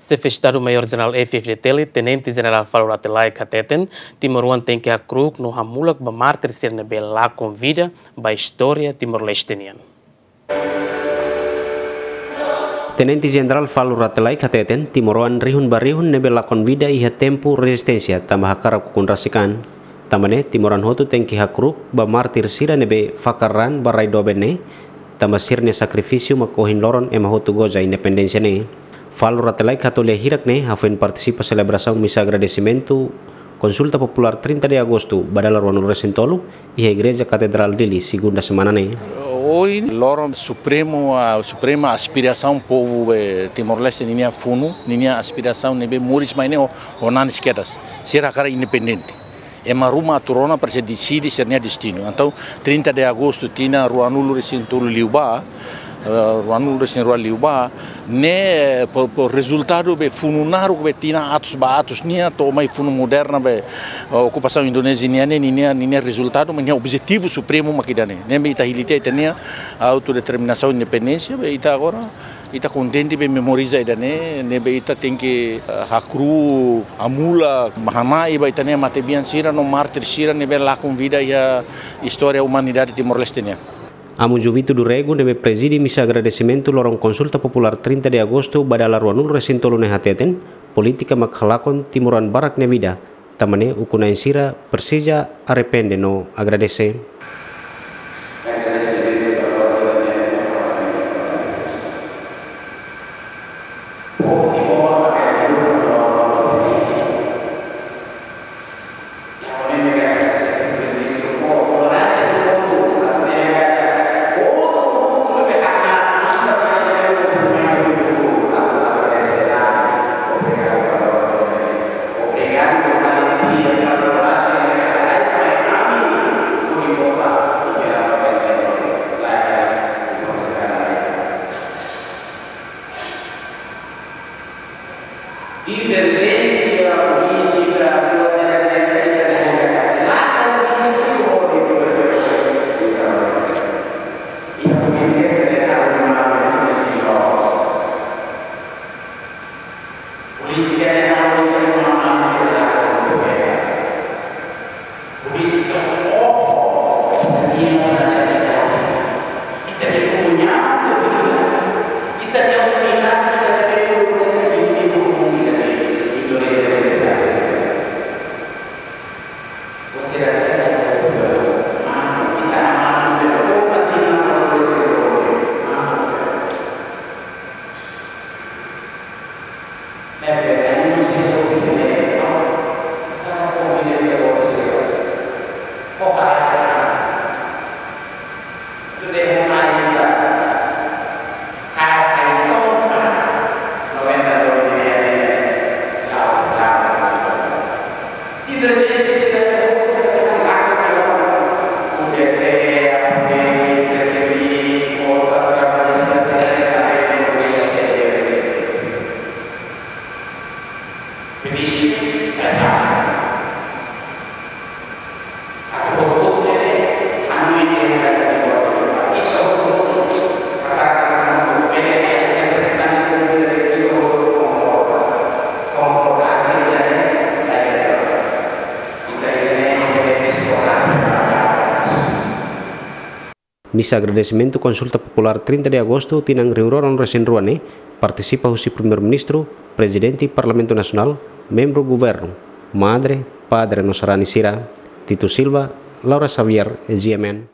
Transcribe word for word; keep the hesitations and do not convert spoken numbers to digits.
Xefe Estadu Maiór Jerál F-FDTL, Tenente Jerál Falur Rate Laek hateten, timoroan tenke hakru'uk no hamulak ba mártir sira ne'ebé lakon vida ba istória Timor-Leste nian. Tenente Jerál Falur Rate Laek hateten, timoroan rihun ba rihun ne'ebé lakon vida iha tempu rezisténsia tanba hakarak ukun rasik an. Tanba ne'e, timoroan hotu tenke hakru'uk ba mártir sira ne'ebé fakar raan ba rai doben ne'e, tanba sira-nia sakrifísiu mak ohin loron ema hotu goza independénsia ne'e. Falur Rate Laek hato'o lia hirak ne'e hafoin partisipa selebrasaun misa agradesimentu Konsulta Populár trinta de Agostu ba dala ruanulu resin tolu iha Igreja Katedrál Dili, segunda semana ne'e. Ohin loron Supremu, a Suprema aspirasaun povu, eh, Timor-Leste ninia funu, ninia aspirasaun ne'ebé moris mai ne'e ho, ho nanis kedas. Sira hakarak independente. Ema ruma atu rona para sei deside sira-nia destinu. Entaun, trinta de Agostu tinan ruanulu resin tolu liubá, eh, ruanulu resin rua liubá, ne'e, eh, po, po rezultadu be funu naruk be tinan atus ba atus nian to'o mai funu moderna be, eh, okupasaun Indonézia nian ne'e, ninia, ninia rezultadu, ninia objetivu supremu mak ida-ne'e. Ne'ebé ita hili tiha ita-nia autodeterminasaun independénsia, be ita agora, ita kontente be memoriza ida-ne'e, ne'ebé ita tenke, eh, hakru'uk, hamulak, ba hamai ba ita-nia matebian sira no mártir sira ne'ebé lakon vida iha istória umanidade Timor-Leste nian. Amu Juvito do Rego ne'ebé prezide misa agradesimentu loron Konsulta Populár trinta de Agostu ba dala ruanulu resin tolu ne'e hateten, polítika mak halakon timoroan barak nia vida, tanba ne'e ukun-na'in sira presiza arrepende no agradese. Diverjénsia polítika, polítika ne'e halo ita-nia mama ni sira la kontu bekas. Polítika oho, nia ita-nia unidade. Ita-nia komunidade, ita-nia unidade, ita-nia komunidade, ita-nia komunidade. Misa agradesimentu Konsulta Populár trinta de Agostu tinan rihun rua ruanulu resin rua ne'e partisipa husi Primeiru-Ministru, Prezidente Parlamentu Nasionál, membru Governu, madre, padre no sarani sira. Tito Silva, Laura Xavier, G M N.